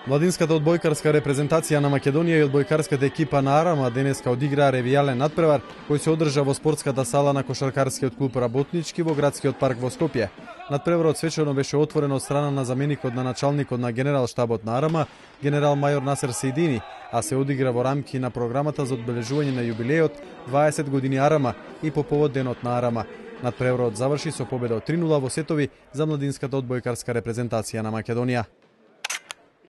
Младинската одбојкарска репрезентација на Македонија и одбојкарската екипа на Арама денеска одиграа ревијален надпревар кој се одржа во спортската сала на кошаркарскиот клуб Работнички во градскиот парк во Скопје. Надпреварот свечено беше отворен од страна на заменикот на началникот на генерал штабот на Арама, генерал мајор Насер Сейдини, а се одигра во рамки на програмата за одбележување на јубилејот 20 години Арама и по повод денот на Арама. Надпреварот заврши со победа од 3:0 во сетови за младинската одбојкарска репрезентација на Македонија.